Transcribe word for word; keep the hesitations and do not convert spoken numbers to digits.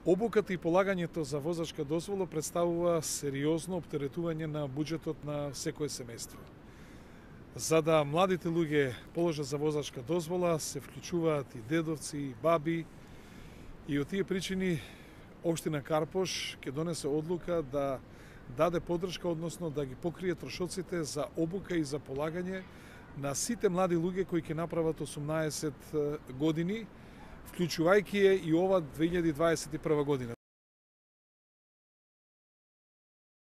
Обуката и полагањето за возачка дозвола представува сериозно оптеретување на буџетот на секое семејство. За да младите луѓе положат за возачка дозвола, се вклучуваат и дедовци, и баби, и од тие причини Општина Карпош ќе донесе одлука да даде подршка, односно да ги покрие трошоците за обука и за полагање на сите млади луѓе кои ќе направат осумнаесет години, вклучувајќи е и ова две илјади дваесет и прва година.